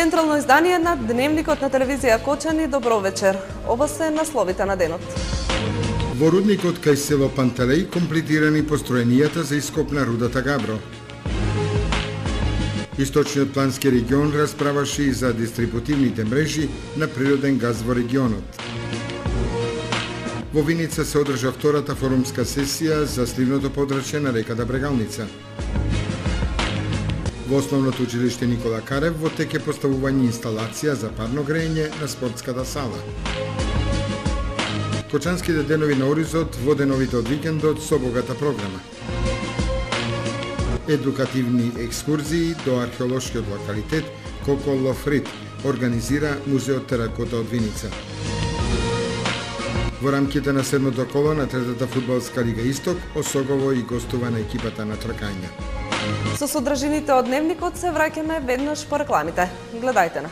Централно издание на Дневникот на телевизија Кочани. Добро вечер. Ова се насловите на денот. Во рудникот кај село Пантелеј комплетирани построенијата за ископ на рудата Габро. Источниот плански регион расправаше и за дистрибутивните мрежи на природен газ во регионот. Во Виница се одржа втората форумска сесија за сливното подрачје на реката Брегалница. Во основното училиште Никола Карев во тек е поставување инсталација за парно грејење на спортската сала. Кочанските денови на Оризот во деновите од викендот со богата програма. Едукативни екскурзии до археолошкиот локалитет Коко Лофрит организира Музеот Теракота од Виница. Во рамките на седмото коло на третата фудбалска лига Исток осогово и гостува на екипата на тркања. Со содржините од Дневникот се враќаме веднаш по рекламите. Гледајте на.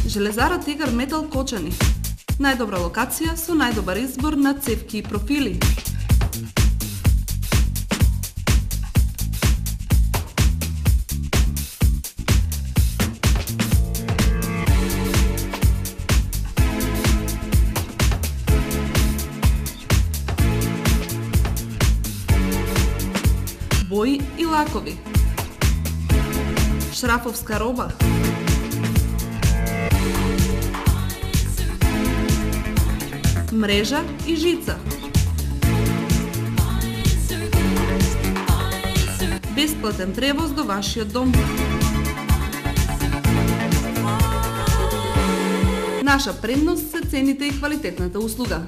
Железара Тигар Метал Кочани. Најдобра локација со најдобар избор на цевки и профили. Бои и лакови. Шрафовска роба. Мрежа и жица. Бесплатен превоз до вашиот дом. Наша предност се цените и квалитетната услуга.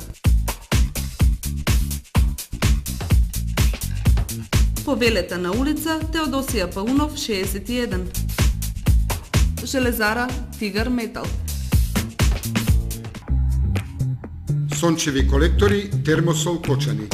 Повелете на улица Теодосија Паунов 61. Железара Тигар Метал. Сончеви колектори Термосол Кочани.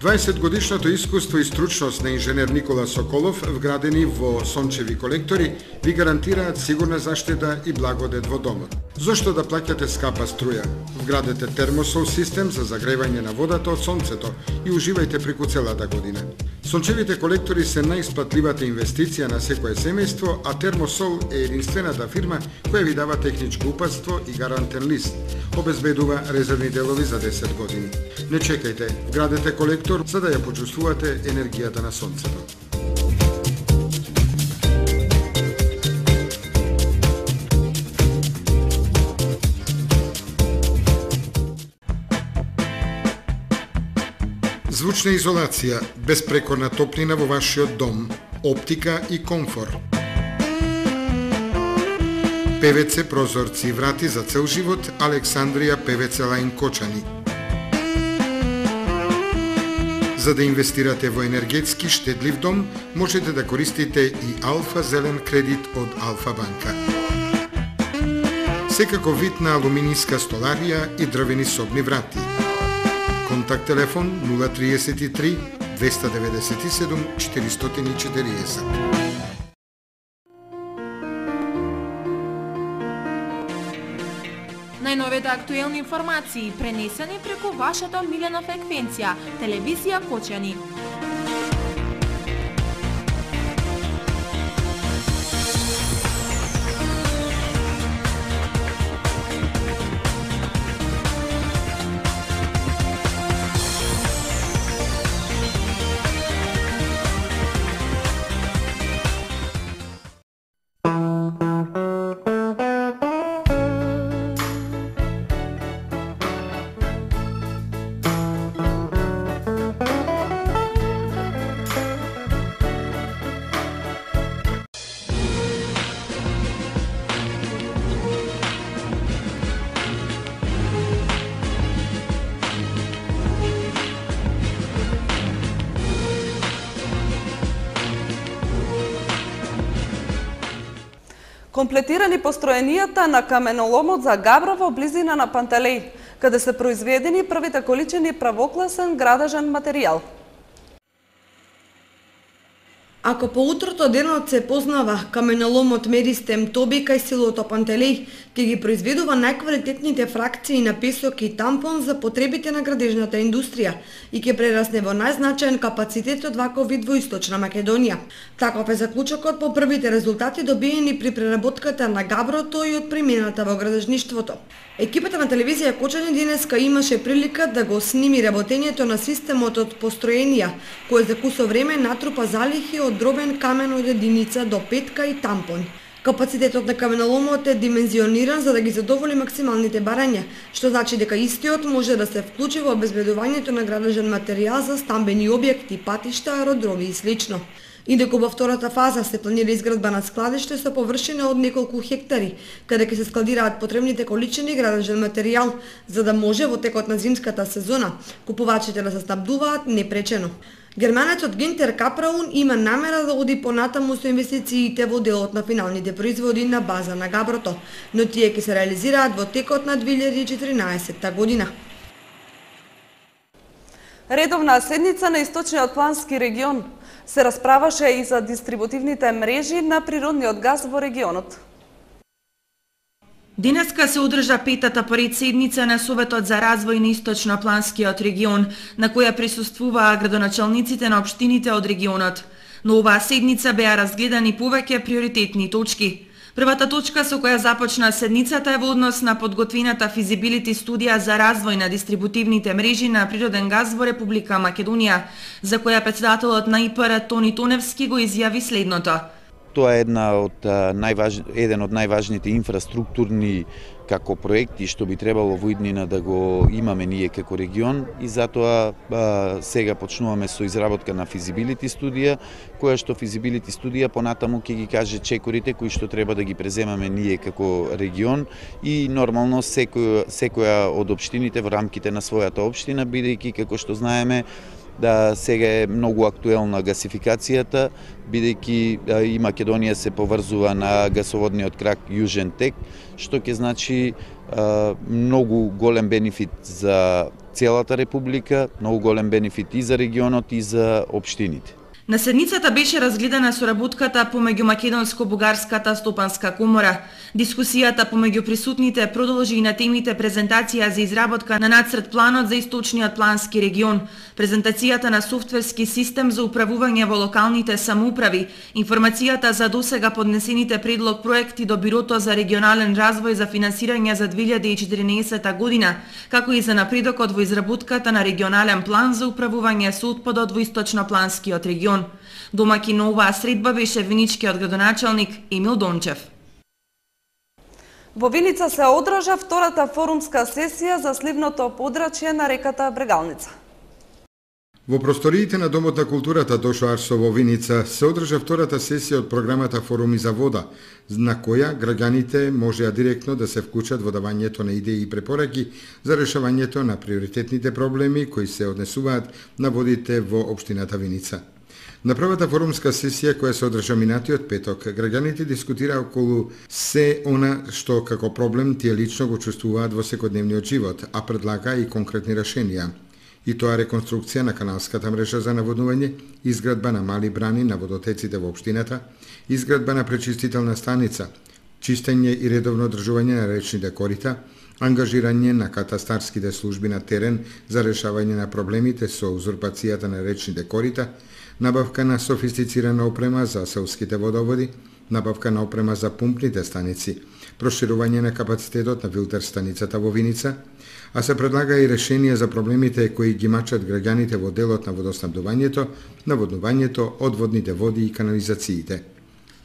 20-годишното искуство и стручност на инженер Никола Соколов, вградени во сончеви колектори, ви гарантираат сигурна заштита и благодет во домот. Зошто да плаќате скапа струја? Вградете термосол систем за загревање на водата од сонцето и уживајте преку целата година. Сончевите колектори се најисплатливата инвестиција на секое семејство, а Термосол е единствената фирма која ви дава техничко упатство и гарантен лист. Обезбедува резервни делови за 10 години. Не чекајте, вградете колектор за да ја почувствувате енергијата на сонцето. Звучна изолација, безпрекорна топлина во вашиот дом, оптика и комфор. ПВЦ прозорци и врати за цел живот, Александрија ПВЦ Лајн Кочани. За да инвестирате во енергетски штедлив дом, можете да користите и Алфа Зелен кредит од Алфа банка. Секако вид на алуминијска столарија и дрвени собни врати. Контакт телефон 033 297 440. Најновите актуелни информации пренесени преку вашата милена фреквенција, телевизија Кочани. Комплетирани построенијата на каменоломот за Габро во близина на Пантелеј, каде се произведени првите количини правокласен градежен материјал. Ако по утрото денот се познава каменоломот Меристем Тоби кај селото Пантелеј, ќе ги произведува најквалитетните фракции на песок и тампон за потребите на градежната индустрија и ќе прерасне во најзначаен капацитет од ваков вид во Источна Македонија. Таков е заклучокот по првите резултати добиени при преработката на габрото и од примената во градежништвото. Екипата на телевизија Кочани денеска имаше прилика да го сними работењето на системот од построенија, кој за кусо време натрупа залихи од дробен камен од единица до петка и тампон. Капацитетот на каменоломот е димензиониран за да ги задоволи максималните барања, што значи дека истиот може да се вклучи во обезбедувањето на градежен материјал за стамбени објекти, патишта, аеродроми и слично. Индеку во втората фаза се планира изградба на складиште со површина од неколку хектари, каде ќе се складираат потребните количини градежен материјал, за да може во текот на зимската сезона купувачите да се снабдуваат непречено. Германецот Гинтер Капраун има намера да оди понатаму со инвестициите во делот на финалните производи на база на габрото, но тие ќе се реализираат во текот на 2014 година. Редовна седница на Источниот плански регион се расправаше и за дистрибутивните мрежи на природниот газ во регионот. Денеска се одржа петата поред седница на Советот за развој на Источно-планскиот регион, на која присуствуваа градоначалниците на општините од регионот. Но оваа седница беа разгледани повеќе приоритетни точки. Првата точка со која започна седницата е во однос на подготвената физибилити студија за развој на дистрибутивните мрежи на природен газ во Република Македонија, за која председателот на ИПР Тони Тоневски го изјави следното. Тоа е еден од најважните инфраструктурни како проекти што би требало во иднина да го имаме ние како регион и затоа сега почнуваме со изработка на физибилити студија, која што физибилити студија понатаму ќе ги каже чекорите кои што треба да ги преземаме ние како регион и нормално секоја од општините во рамките на својата општина, бидејќи како што знаеме да сега е многу актуелна гасификацијата, бидејќи и Македонија се поврзува на гасоводниот крак Јужен тек, што ќе значи многу голем бенефит за целата република, многу голем бенефит и за регионот и за општините. На седницата беше разгледана соработката помеѓу Македонско-бугарската стопанска комора. Дискусијата помеѓу присутните продолжи и на темите презентација за изработка на нацрт планот за Источниот плански регион, презентацијата на софтверски систем за управување во локалните самоуправи, информацијата за досега поднесените предлог проекти до Бирото за регионален развој за финансирање за 2014 година, како и за напредокот во изработката на регионален план за управување со отпадот во Источнопланскиот регион. Домаќин на оваа средба беше виничкиот градоначалник Емил Дончев. Во Виница се одржа втората форумска сесија за сливното подрачје на реката Брегалница. Во просториите на Домот на културата Тошо Арсо во Виница се одржа втората сесија од програмата Форуми за вода, на која граѓаните можеа директно да се вклучат во давањето на идеи и препораки за решавањето на приоритетните проблеми кои се однесуваат на водите во општината Виница. На првата форумска сесија која се одржа минатиот петок, граѓаните дискутираа околу се она што како проблем тие лично го чувствуваат во секојдневниот живот, а предлага и конкретни решенија. И тоа реконструкција на каналската мрежа за наводнување, изградба на мали брани на водотеците во општината, изградба на пречистителна станица, чистење и редовно одржување на речните корита, ангажирање на катастарските служби на терен за решавање на проблемите со узурпацијата на речните корита, набавка на софистицирана опрема за селските водоводи, набавка на опрема за пумпните станици, проширување на капацитетот на филтер станицата во Виница, а се предлага и решенија за проблемите кои ги мачат граѓаните во делот на водоснабдувањето, наводнувањето, одводните води и канализациите.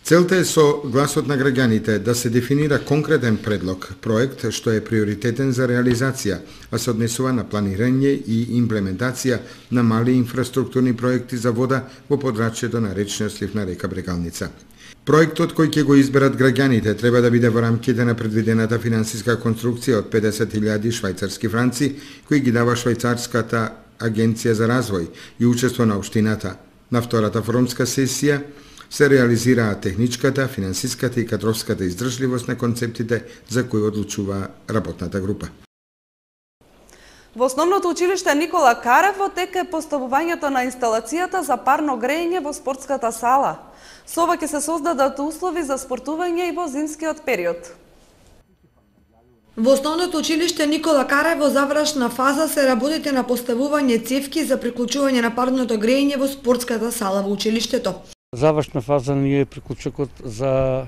Целта е со гласот на граѓаните да се дефинира конкретен предлог, проект што е приоритетен за реализација, а се однесува на планирање и имплементација на мали инфраструктурни проекти за вода во подрачјето на речниот слив на река Брегалница. Проектот кој ќе го изберат граѓаните треба да биде во рамките на предвидената финансиска конструкција од 50.000 швајцарски франци, кои ги дава Швајцарската агенција за развој и учество на општината. На втората форумска сесија се реализираа техничката, финансиската и кадровската издржливост на концептите за кои одлучува работната група. Во основното училиште Никола Карев тека поставувањето на инсталацијата за парно грејење во спортската сала. Со ова ќе се создадат услови за спортување и во зимскиот период. Во основното училиште Никола Карев во завршна фаза се работите на поставување цевки за приклучување на парното грејење во спортската сала во училиштето. Завршна фаза ни е приклучокот за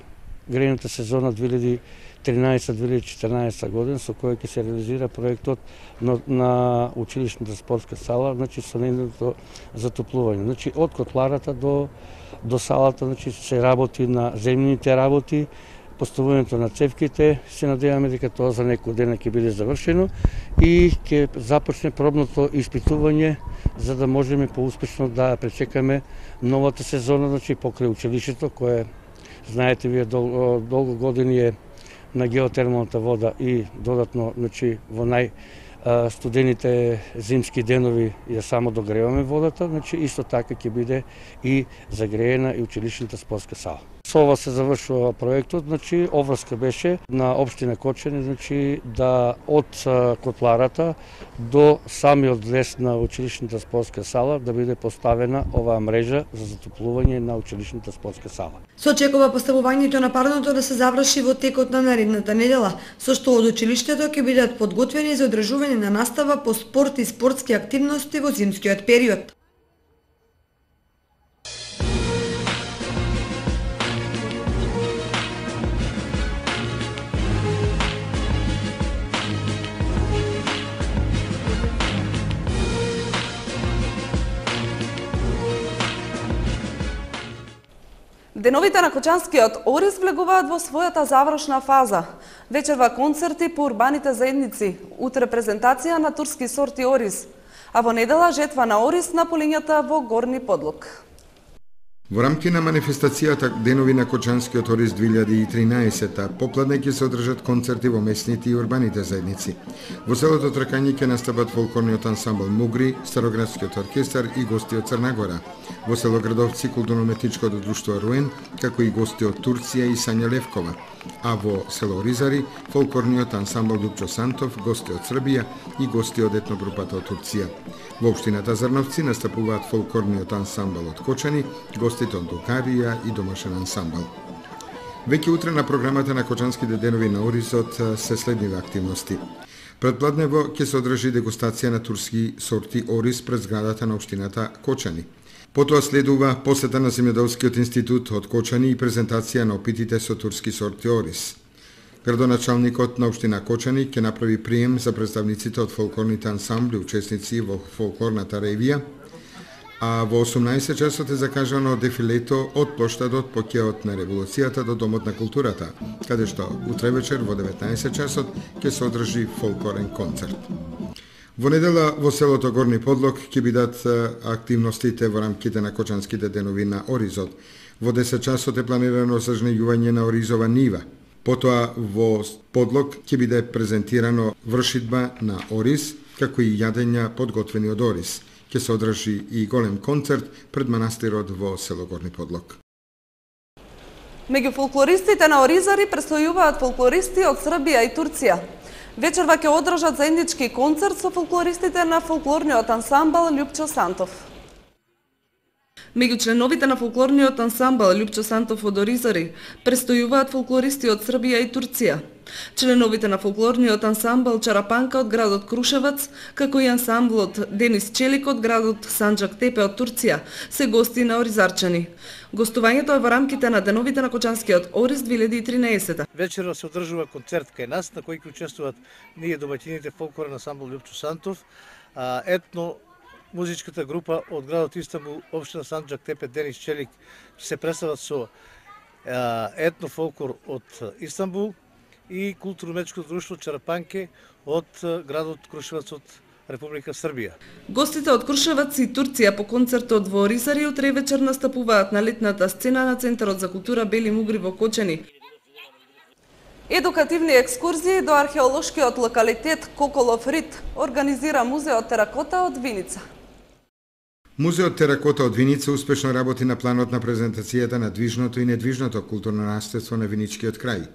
грејната сезона 2013-2014 година, со кој ќе се реализира проектот на училишната спортска сала, значи со нейното затоплување. Значи од котларата до салата, значи се работи на земјаните работи, поставувањето на цевките, се надеваме дека тоа за некој ден ќе биде завршено и ќе започне пробното испитување за да можеме поуспешно да пречекаме новата сезона, значи покрај училиштето кое знаете вие долго години е на геотермалната вода и додатно значи во студените зимски денови ја само догреваме водата, значи исто така ќе биде и загреена и училишната спортска сала. Со ова се завршува проектот, значи обврска беше на општина Кочани, значи да од котларата до самиот лес на училишната спортска сала да биде поставена оваа мрежа за затоплување на училишната спортска сала. Се очекува поставувањето на парното да се заврши во текот на наредната недела, со што од училиштето ќе бидат подготвени за одржување на настава по спорт и спортски активности во зимскиот период. Деновите на Кочанскиот Орис влегуваат во својата завршна фаза. Вечерва концерти по урбаните заедници, утре презентација на турски сорти Орис, а во недела жетва на Орис на полињата во Горни Подлог. Во рамки на манифестацијата Денови на Кочанскиот Орис 2013, попладне ќе се одржат концерти во местните и урбаните заедници. Во селото Тракање ќе настапат фолклорниот ансамбл Мугри, Староградскиот оркестар и гости од Црна Гора. Во село Градовци културно-уметничкото друштво Руен, како и гости од Турција и Сања Левкова. А во село Ризари, фолклорниот ансамбл Лупчо Сантов, гости од Србија и гости од етногрупата од Турција. Во општината Зрновци настапуваат фолклорниот ансамбл од Кочани, гостите од Дукарија и домашен ансамбл. Веќе утре на програмата на Кочанските денови на Орисот се следниве активности. Предпладнево ќе се одржи дегустација на турски сорти Орис пред зградата на општината Кочани. Потоа следува посета на Земјоделскиот институт од Кочани и презентација на опитите со турски сорти Орис. Градоначалникот на општина Кочани ќе направи прием за представниците од фолклорните ансамбли учесници во фолклорната ревија, а во 18 часот е закажано дефилето од плоштадот по кеот на револуцијата до Домот на културата, каде што утре вечер во 19 часот ќе се одржи фолклорен концерт. Во недела во селото Горни Подлог ќе бидат активностите во рамките на Кочанските денови на Оризот. Во 10 часот е планирано зажнејување на оризова нива. Потоа во Подлог ќе биде презентирано вршидба на Орис, како и јадења подготвени од Орис. Ќе се одржи и голем концерт пред манастирот во село Горни Подлог. Меѓу фолклористите на Оризари престојуваат фолклористи од Србија и Турција. Вечерва ќе одржат заеднички концерт со фолклористите на фолклорниот ансамбл Лупчо Сантов. Меѓу членовите на фолклорниот ансамбл Лупчо Сантов од Оризари престојуваат фолклористи од Србија и Турција. Членовите на фолклорниот ансамбл Чарапанка од градот Крушевац, како и ансамблот Денис Челик од градот Санџак Тепе од Турција, се гости на Оризарчани. Гостувањето е во рамките на Деновите на Кочанскиот Орис 2013. Вечерва се одржува концерт кај нас, на кој ќе учествуваат ние домаќините фолклорен ансамбл Лупчо Сантов, етно музичката група од градот Истанбул, општина Санџак Тепе, Денис Челик, се представат со етно фолклор од Истанбул и културно-уметничкото друштво Чарапанке од градот Крушевац од Република Србија. Гостите од Крушевац и Турција по концертот во Оризари утре вечер настапуваат на летната сцена на Центарот за култура Бели Мугри во Кочани. Едукативни екскурзии до археолошкиот локалитет Коколов Рит организира музеот Теракота од Виница. Музеот Теракота од Виница успешно работи на планот на презентацијата на движното и недвижното културно наследство на Виничкиот крај.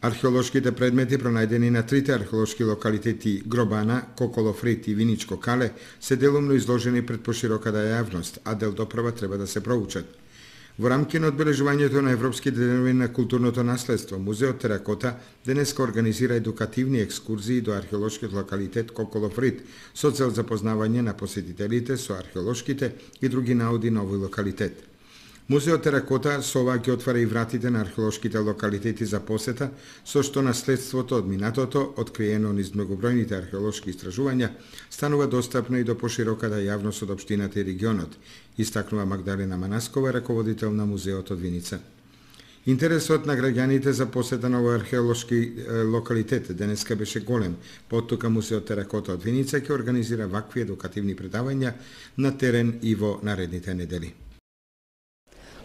Археолошките предмети пронајдени на трите археолошки локалитети Гробана, Коколов рид и Виничко кале се делумно изложени пред пошироката јавност, а дел допрва треба да се проучат. Во рамки на одбележувањето на Европските денови на културното наследство, Музеот Теракота денеска организира едукативни екскурзии до археолошкиот локалитет Коколов рид со цел запознавање на посетителите со археолошките и други науди на овој локалитет. Музеот Теракота со ова ќе отвара и вратите на археолошките локалитети за посета, со што наследството од минатото, откриено низ многобројните археолошки истражувања, станува достапно и до пошироката јавност од општината и регионот, истакнува Магдалена Манаскова, раководител на Музеот од Виница. Интересот на граѓаните за посета на овој археолошки локалитет денеска беше голем, поттука Музеот Теракота од Виница ќе организира вакви едукативни предавања на терен и во наредните недели.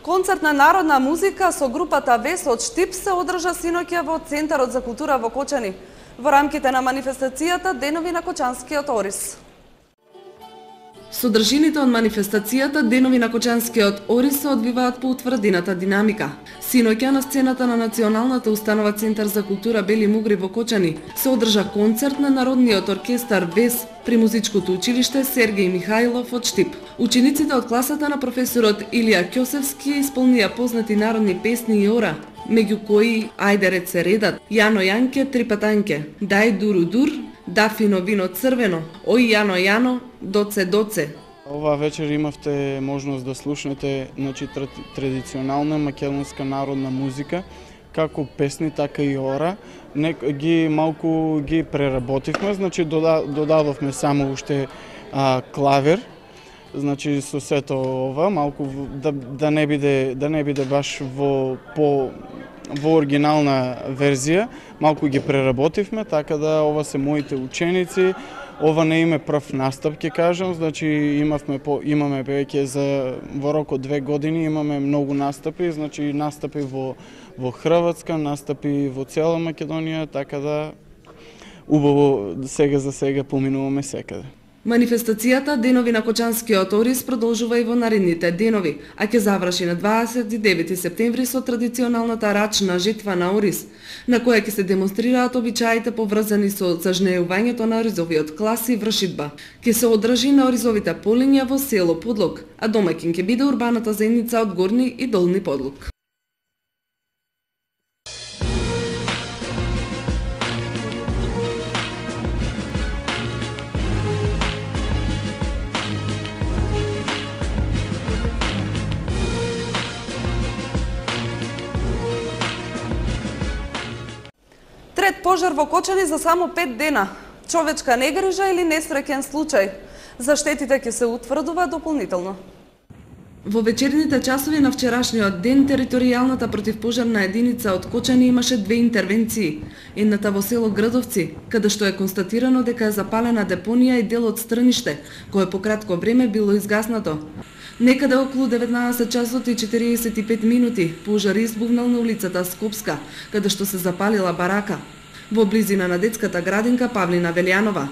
Концерт на народна музика со групата Вес од Штип се одржа синоќа во Центарот за култура во Кочани, во рамките на манифестацијата Денови на Кочанскиот Орис. Содржините од манифестацијата Денови на Кочанскиот Орис се одвиваат по утврдената динамика. Синоќа на сцената на Националната установа Центар за култура Бели Мугри во Кочани се одржа концерт на Народниот оркестар Вес при музичкото училиште Сергеј Михајлов од Штип. Учениците од класата на професорот Илија Ќосевски исполнија познати народни песни и ора, меѓу кои Ајде ред се редат, Јано Јанке, Три патанке, Дај дуру дур, Дафино вино црвено, Ој Јано Јано, Доце доце. Ова вечер имавте можност да слушнете традиционална македонска народна музика, како песни, така и ора. Малку ги преработивме, значи додадовме само уште клавир, значи со сето ова, малку да не биде баш во оригинална верзија, малку ги преработивме, така да ова се моите ученици. Ова не име прв настап, ќе кажам, значи имаме веќе во рок од 2 години имаме многу настапи, значи настапи во Хрватска, настапи во цела Македонија, така да убаво сега за сега поминуваме секаде. Манифестацијата Денови на Кочанскиот Орис продолжува и во наредните денови, а ќе заврши на 29 септември со традиционалната рачна жетва на Орис, на која ќе се демонстрираат обичаите поврзани со зажнејувањето на оризовиот клас и вршидба. Ќе се одржи на оризовите полиња во село Подлог, а домаќин ќе биде урбаната заедница од Горни и Долни Подлог. Трет пожар во Кочани за само 5 дена. Човечка негрижа или несреќен случај? За штетите ќе се утврдува дополнително. Во вечерните часови на вчерашниот ден, територијалната противпожарна единица од Кочани имаше 2 интервенции. Едната во село Градовци, каде што е констатирано дека е запалена депонија и дел од стрниште, кое по кратко време било изгаснато. Некаде околу 19 часот и 45 минути пожар избувнал на улицата Скопска, каде што се запалила барака. Во близина на детската градинка Павлина Велјанова,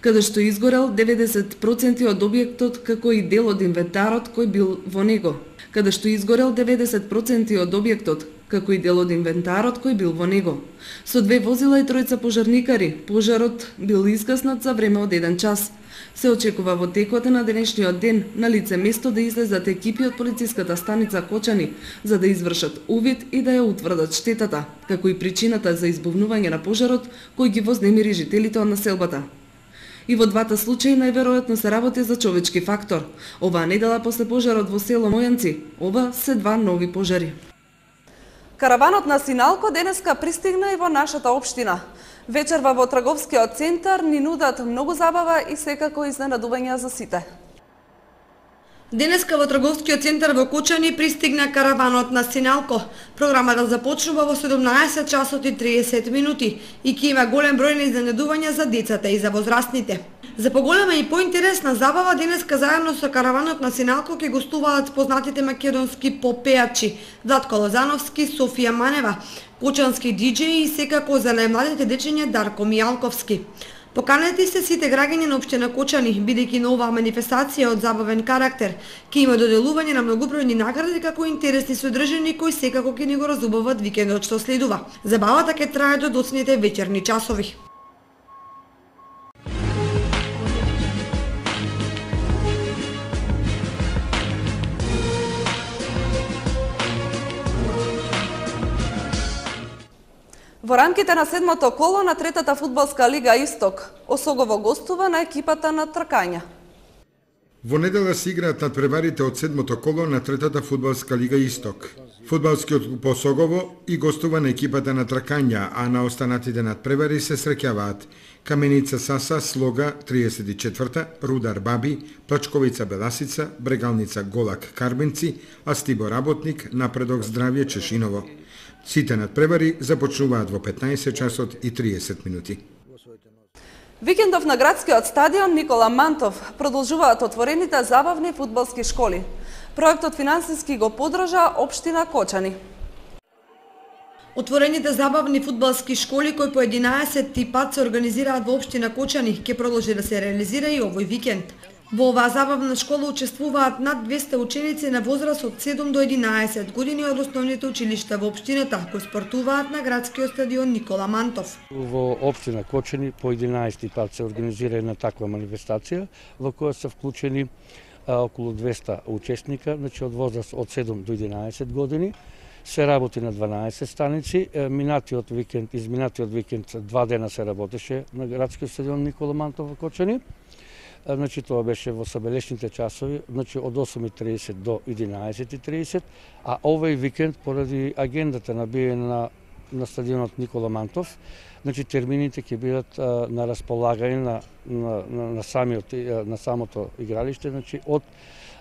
каде што изгорел 90% од објектот, како и дел од инвентарот кој бил во него. Каде што изгорел 90% од објектот, како и дел од инвентарот кој бил во него. Со 2 возила и 3 пожарникари, пожарот бил изгаснат за време од 1 час. Се очекува во текот на денешниот ден на лице место да излезат екипи од полициската станица Кочани за да извршат увид и да ја утврдат штетата, како и причината за избувнување на пожарот кој ги вознемири жителите од населбата. И во двата случаи најверојатно се работи за човечки фактор. Оваа недела после пожарот во село Мојанци, ова се 2 нови пожари. Караванот на Синалко денеска пристигна и во нашата општина. Вечерва во трговскиот центар ни нудат многу забава и секако изненадувања за сите. Денеска во трговскиот центар во Кочани пристигна караванот на Синалко. Програмата започнува во 17 часот и 30 минути и ќе има голем број на изненадувања за децата и за возрастните. За поголема и поинтересна забава денеска заедно со караванот на Синалко ќе гостуваат познатите македонски попеачи Владко Лозановски, Софија Манева, кочански диџеи и секако за најмладите дечиња Дарко Мијалковски. Поканети се сите граѓани на општина Кочани, бидејќи на оваа манифестација од забавен карактер ќе има доделување на многобројни награди како интересни содржини кои секако ќе ни го разубават викендот што следува. Забавата ќе трае до доцните вечерни часови. Во рамките на седмото коло на третата фудбалска лига Исток, Осогово гостува на екипата на тркања. Во недела се играат надпреварите од седмото коло на третата фудбалска лига Исток. Фудбалскиот клуб Осогово и гостува на екипата на тркања, а на останатите надпревари се среќаваат Каменица Саса Слога 34-та, Рудар Баби, Плачковица Беласица, Брегалница Голак Карбенци, а Стибо Работник, Напредок Здравје Чешиново. Сите надпревари започнуваат во 15 часот и 30 минути. Викендов на градскиот стадион Никола Мантов продолжуваат отворените забавни фудбалски школи. Проектот финансиски го подржа општина Кочани. Отворените забавни фудбалски школи кои по 11 пат се организираат во општина Кочани ќе продолжи да се реализира и овој викенд. Во оваа забавна школа учествуваат над 200 ученици на возраст од 7 до 11 години од основните училишта во општината кои спортуваат на градскиот стадион Никола Мантов. Во општина Кочани по 11 пат се организира една таква манифестација во која се вклучени околу 200 учесника, значи од возраст од 7 до 11 години. Се работи на 12 станици. Изминатиот викенд 2 дена се работеше на градскиот стадион Никола Мантов во Кочани. Значи тоа беше во сабелешните часови, значи од 8:30 до 11:30, а овој викенд поради агендата набиена на стадионот Никола Мантов, значи термините ќе бидат на располагање на самото игралиште, значи од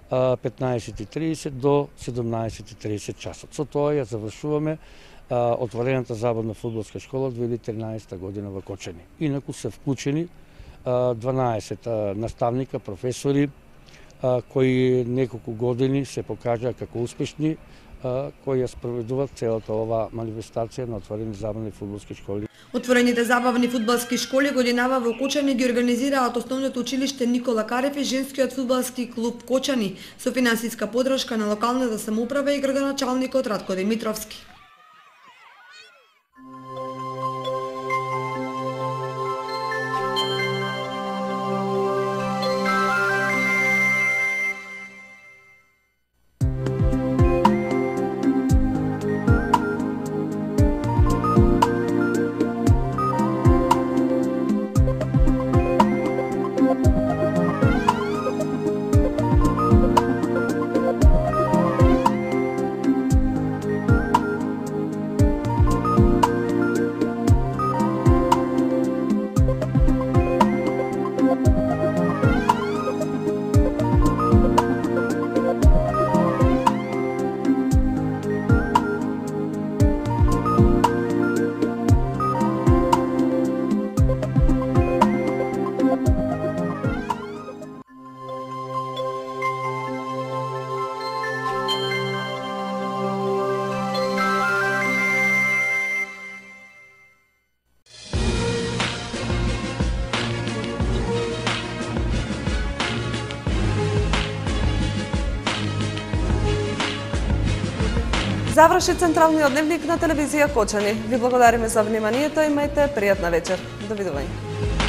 15:30 до 17:30 часот. Со тоа ја завршуваме отворената забавна фудбалска школа 2013 година во Кочани. Инаку се вклучени 12 наставника, професори, кои неколку години се покажаа како успешни, кои ја спроведуваат целата оваа манифестација на отворени забавни фудбалски школи. Отворените забавни фудбалски школи годинава во Кочани ги организираат основното училиште Никола Карев и женскиот фудбалски клуб Кочани со финансиска подршка на локалната самоуправа и градоначалникот Радко Димитровски. Заврши централниот дневник на телевизија Кочани. Ви благодариме за вниманието, имајте пријатна вечер. Довидување.